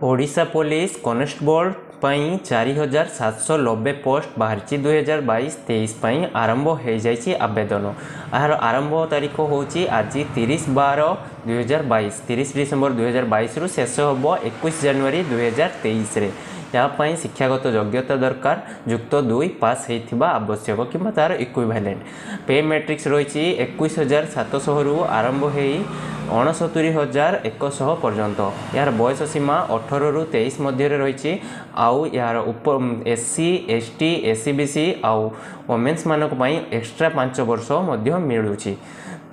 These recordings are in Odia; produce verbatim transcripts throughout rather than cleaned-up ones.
ଓଡ଼ିଶା ପୋଲିସ କନେଷ୍ଟବଳ ପାଇଁ ଚାରି ହଜାର ସାତଶହ ନବେ ପୋଷ୍ଟ ବାହାରିଛି। ଦୁଇହଜାର ବାଇଶ ତେଇଶ ପାଇଁ ଆରମ୍ଭ ହୋଇଯାଇଛି ଆବେଦନ। ଏହାର ଆରମ୍ଭ ତାରିଖ ହେଉଛି ଆଜି ତିରିଶ ବାର ଦୁଇହଜାର ବାଇଶ। ତିରିଶ ଡିସେମ୍ବର ଦୁଇହଜାର ବାଇଶରୁ ଶେଷ ହେବ ଏକୋଇଶ ଜାନୁଆରୀ ଦୁଇହଜାର ତେଇଶରେ। ଏହା ପାଇଁ ଶିକ୍ଷାଗତ ଯୋଗ୍ୟତା ଦରକାର ଯୁକ୍ତ ଦୁଇ ପାସ୍ ହେଇଥିବା ଆବଶ୍ୟକ କିମ୍ବା ତା'ର ଇକ୍ୱିଭାଲେଣ୍ଟ। ପେ ମେଟ୍ରିକ୍ସ ରହିଛି ଏକୋଇଶ ହଜାର ସାତଶହରୁ ଆରମ୍ଭ ହେଇ ଅଣସତୁରି ହଜାର ଏକଶହ ପର୍ଯ୍ୟନ୍ତ। ଏହାର ବୟସ ସୀମା ଅଠରରୁ ତେଇଶ ମଧ୍ୟରେ ରହିଛି। ଆଉ ଏହାର ଉପ S C, S T, S E B C ଆଉ ଓମେନ୍ସମାନଙ୍କ ପାଇଁ ଏକ୍ସଟ୍ରା ପାଞ୍ଚ ବର୍ଷ ମଧ୍ୟ ମିଳୁଛି।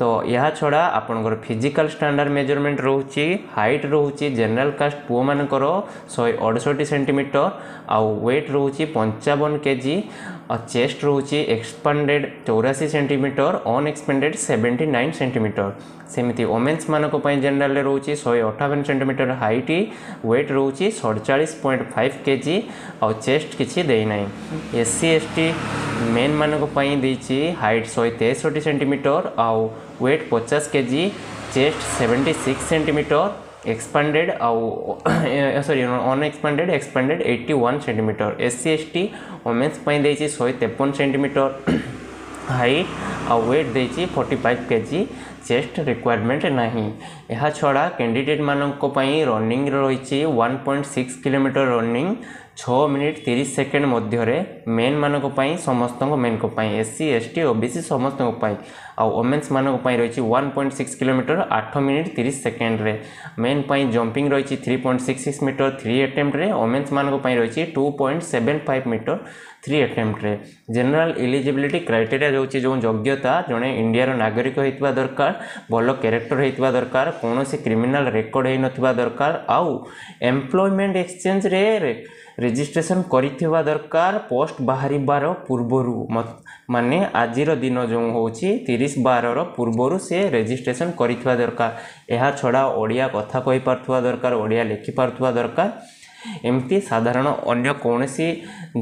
ତ ଏହା ଛଡ଼ା ଆପଣଙ୍କର ଫିଜିକାଲ୍ ଷ୍ଟାଣ୍ଡାର୍ଡ଼ ମେଜରମେଣ୍ଟ ରହୁଛି। ହାଇଟ୍ ରହୁଛି ଜେନେରାଲ୍ କାଷ୍ଟ ପୁଅମାନଙ୍କର ଶହେ ଅଠଷଠି ସେଣ୍ଟିମିଟର ଆଉ ୱେଟ୍ ରହୁଛି ପଞ୍ଚାବନ କେଜି ଆଉ ଚେଷ୍ଟ ରହୁଛି ଏକ୍ସପାଣ୍ଡେଡ଼ ଚଉରାଅଶୀ ସେଣ୍ଟିମିଟର, ଅନଏକ୍ସପାଣ୍ଡେଡ଼ ସେଭେଣ୍ଟି ନାଇନ୍ ସେଣ୍ଟିମିଟର। ସେମିତି ଓମେନ୍ସମାନଙ୍କ ପାଇଁ ଜେନେରାଲରେ ରହୁଛି ଶହେ ଅଠାବନ ସେଣ୍ଟିମିଟର ହାଇଟ୍, ୱେଟ୍ ରହୁଛି ସଡ଼ଚାଳିଶ ପଏଣ୍ଟ ଫାଇଭ୍ କେଜି ଆଉ ଚେଷ୍ଟ କିଛି ଦେଇନାହିଁ। ଏସ୍ ସି, ଏସ୍ ଟି ମେନ୍ମାନଙ୍କ ପାଇଁ ଦେଇଛି ହାଇଟ୍ ଶହେ ତେଷଠି ସେଣ୍ଟିମିଟର ଆଉ ୱେଟ୍ ପଚାଶ କେଜି, ଚେଷ୍ଟ ସେଭେଣ୍ଟି ସିକ୍ସ ସେଣ୍ଟିମିଟର ଏକ୍ସପାଣ୍ଡେଡ଼ ଆଉ ସରି ଅନଏକ୍ସପାଣ୍ଡେଡ଼, ଏକ୍ସପାଣ୍ଡେଡ଼ eighty one centimetre. S C, S T women's ପାଇଁ ଦେଇଛି ଶହେ ତେପନ ସେଣ୍ଟିମିଟର ହାଇଟ୍ ଆଉ ୱେଟ୍ ଦେଇଛି ଫର୍ଟି ଫାଇଭ୍ କେଜି, ଚେଷ୍ଟ ରିକ୍ୱାରମେଣ୍ଟ ନାହିଁ। ଏହା ଛଡ଼ା କ୍ୟାଣ୍ଡିଡେଟ୍ମାନଙ୍କ ପାଇଁ ରନିଂର ରହିଛି one point six kilometre running ଛଅ ମିନିଟ୍ ତିରିଶ ସେକେଣ୍ଡ ମଧ୍ୟରେ ମେନ୍ମାନଙ୍କ ପାଇଁ, ସମସ୍ତଙ୍କ ମେନ୍ଙ୍କ ପାଇଁ, S C, S T, ଓ ବି ସି ସମସ୍ତଙ୍କ ପାଇଁ। ଆଉ ଓମେନ୍ସମାନଙ୍କ ପାଇଁ ରହିଛି ୱାନ୍ ପଏଣ୍ଟ ସିକ୍ସ କିଲୋମିଟର ଆଠ ମିନିଟ୍ ତିରିଶ ସେକେଣ୍ଡରେ। ମେନ୍ ପାଇଁ ଜମ୍ପିଂ ରହିଛି three point six six metre three ଆଟେମ୍ପ୍ଟରେ। ଓମେନ୍ସମାନଙ୍କ ପାଇଁ ରହିଛି two point seven five metre three ଆଟେମ୍ପ୍ଟରେ। General eligibility criteria ରହୁଛି, ଯେଉଁ ଯୋଗ୍ୟତା, ଜଣେ ଇଣ୍ଡିଆର ନାଗରିକ ହେଇଥିବା ଦରକାର, ଭଲ କ୍ୟାରେକ୍ଟର ହେଇଥିବା ଦରକାର, କୌଣସି କ୍ରିମିନାଲ ରେକର୍ଡ଼ ହେଇନଥିବା ଦରକାର ଆଉ ଏମ୍ପ୍ଲୟମେଣ୍ଟ ଏକ୍ସଚେଞ୍ଜରେ ରେଜିଷ୍ଟ୍ରେସନ କରିଥିବା ଦରକାର ପୋଷ୍ଟ ବାହାରିବାର ପୂର୍ବରୁ। ମାନେ ଆଜିର ଦିନ ଯେଉଁ ହେଉଛି ତିରିଶ ବାରର ପୂର୍ବରୁ ସେ ରେଜିଷ୍ଟ୍ରେସନ କରିଥିବା ଦରକାର। ଏହା ଛଡ଼ା ଓଡ଼ିଆ କଥା କହିପାରୁଥିବା ଦରକାର, ଓଡ଼ିଆ ଲେଖିପାରୁଥିବା ଦରକାର। ଏମିତି ସାଧାରଣ ଅନ୍ୟ କୌଣସି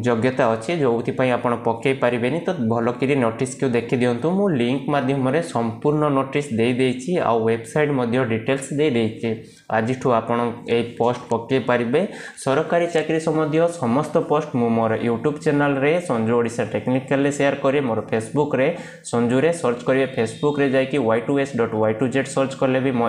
ଯୋଗ୍ୟତା ଅଛି ଯେଉଁଥିପାଇଁ ଆପଣ ପକାଇ ପାରିବେନି, ତ ଭଲକିରି ନୋଟିସ୍କୁ ଦେଖିଦିଅନ୍ତୁ। ମୁଁ ଲିଙ୍କ ମାଧ୍ୟମରେ ସମ୍ପୂର୍ଣ୍ଣ ନୋଟିସ୍ ଦେଇଦେଇଛି ଆଉ ୱେବସାଇଟ୍ ମଧ୍ୟ ଡିଟେଲ୍ସ ଦେଇଦେଇଛି। ଆଜିଠୁ ଆପଣ ଏଇ ପୋଷ୍ଟ ପକାଇ ପାରିବେ। ସରକାରୀ ଚାକିରି ସମ୍ବନ୍ଧୀୟ ସମସ୍ତ ପୋଷ୍ଟ ମୁଁ ମୋର ୟୁଟ୍ୟୁବ୍ ଚ୍ୟାନେଲରେ ସଞ୍ଜୁ ଓଡ଼ିଶା ଟେକ୍ନିକାଲରେ ସେୟାର କରେ। ମୋର ଫେସବୁକ୍ରେ ସଞ୍ଜୁରେ ସର୍ଚ୍ଚ କରିବେ। ଫେସବୁକ୍ରେ ଯାଇକି Y two S dot Y to Z search କଲେ ବି ମୋ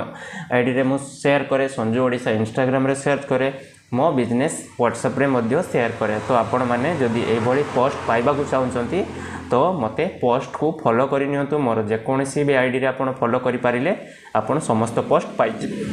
ଆଇଡ଼ିରେ ମୁଁ ସେୟାର କରେ। ସଞ୍ଜୁ ଓଡ଼ିଶା ଇନଷ୍ଟାଗ୍ରାମରେ ସର୍ଚ୍ଚ କରେ। ମୋ ବିଜନେସ୍ ହ୍ୱାଟ୍ସଆପ୍ରେ ମଧ୍ୟ ସେୟାର କରେ। ତ ଆପଣମାନେ ଯଦି ଏଇଭଳି ପୋଷ୍ଟ ପାଇବାକୁ ଚାହୁଁଛନ୍ତି, ତ ମୋତେ ପୋଷ୍ଟକୁ ଫଲୋ କରିନିଅନ୍ତୁ। ମୋର ଯେକୌଣସି ବି ଆଇଡ଼ିରେ ଆପଣ ଫଲୋ କରିପାରିଲେ ଆପଣ ସମସ୍ତ ପୋଷ୍ଟ ପାଇଯିବେ।